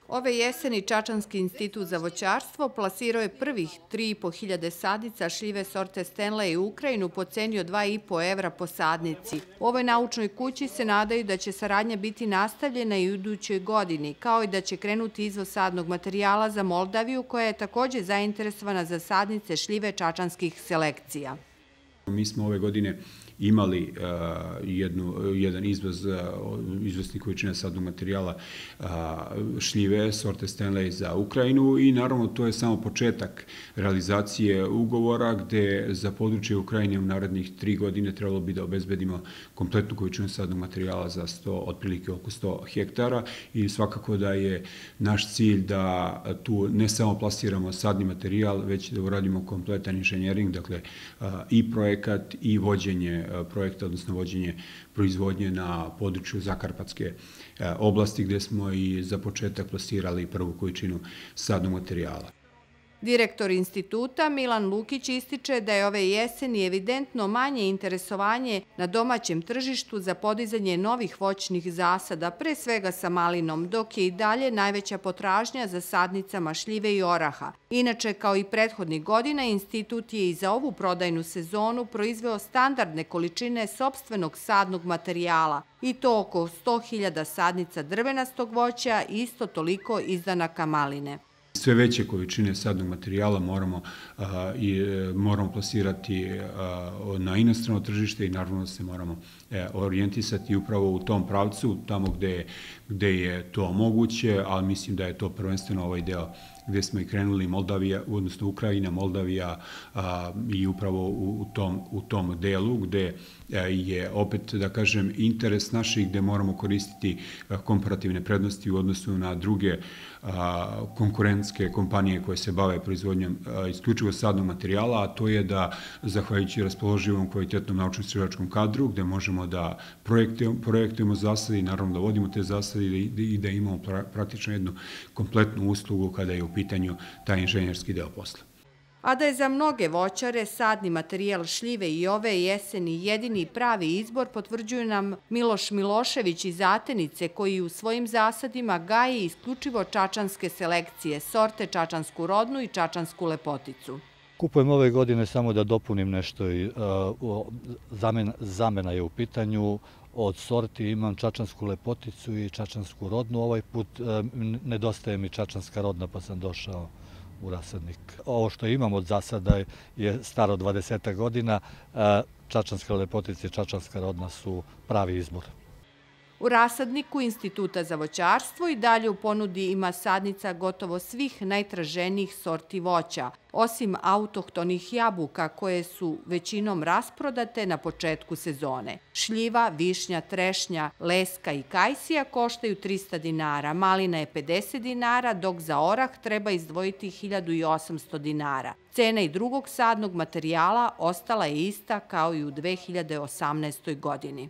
Ove jeseni Čačanski institut za voćarstvo plasirao je prvih 3.500 sadnica šljive sorte Stanley u Ukrajinu po ceni od 2,5 evra po sadnici. U ovoj naučnoj kući se nadaju da će saradnja biti nastavljena i u idućoj godini, kao i da će krenuti izvoz sadnog materijala za Moldaviju, koja je također zainteresovana za sadnice šljive čačanskih selekcija. Mi smo ove godine imali jedan izvoznih količina sadnog materijala šljive sorte Stanley za Ukrajinu i naravno to je samo početak realizacije ugovora gde za područje Ukrajine u narednih 3 godine trebalo bi da obezbedimo kompletnu količinu sadnog materijala za otprilike oko 100 hektara i svakako da je naš cilj da tu ne samo plasiramo sadni materijal, već da uradimo kompletan inženjering, dakle i projekat i vođenje projekta, odnosno vođenje proizvodnje na području Zakarpatske oblasti, gde smo i za početak plasirali prvu količinu sadnog materijala. Direktor instituta Milan Lukić ističe da je ove jeseni evidentno manje interesovanje na domaćem tržištu za podizanje novih voćnih zasada, pre svega sa malinom, dok je i dalje najveća potražnja za sadnicama šljive i oraha. Inače, kao i prethodnih godina, institut je i za ovu prodajnu sezonu proizveo standardne količine sopstvenog sadnog materijala, i to oko 100.000 sadnica drvenastog voća i isto toliko izdanaka maline. Sve veće količine sadnog materijala moramo plasirati na inostrano tržište i naravno da se moramo orijentisati upravo u tom pravcu, tamo gde je to moguće, ali mislim da je to prvenstveno ovaj deo gde smo i krenuli Moldavija, odnosno Ukrajina, Moldavija i upravo u tom delu gde je opet, da kažem, interes naših gde moramo koristiti komparativne prednosti u odnosu na druge konkurentske kompanije koje se bave proizvodnjom isključivo sadnog materijala, a to je da, zahvaljujući raspoloživom kvalitetnom naučno-istraživačkom kadru, gde možemo da projektujemo zasade i naravno da vodimo te zasade i da imamo praktično jednu kompletnu uslugu kada je u pitanju taj inženjerski deo posla. A da je za mnoge voćare sadni materijal šljive i ove jeseni jedini pravi izbor, potvrđuju nam Miloš Milošević iz Atenice, koji u svojim zasadima gaji isključivo čačanske selekcije, sorte čačansku rodnu i čačansku lepoticu. Kupujem ove godine samo da dopunim nešto. Zamena je u pitanju. Od sorti imam čačansku lepoticu i čačansku rodnu. Ovaj put nedostaje mi čačanska rodna pa sam došao u rasadnik. Ovo što imam od zasada je staro 20 godina. Čačanska lepotica i čačanska rodna su pravi izbor. U rasadniku Instituta za voćarstvo i dalje u ponudi ima sadnica gotovo svih najtraženijih sorti voća, osim autohtonih jabuka koje su većinom rasprodate na početku sezone. Šljiva, višnja, trešnja, leska i kajsija koštaju 300 dinara, malina je 50 dinara, dok za orah treba izdvojiti 1800 dinara. Cena i drugog sadnog materijala ostala je ista kao i u 2018. godini.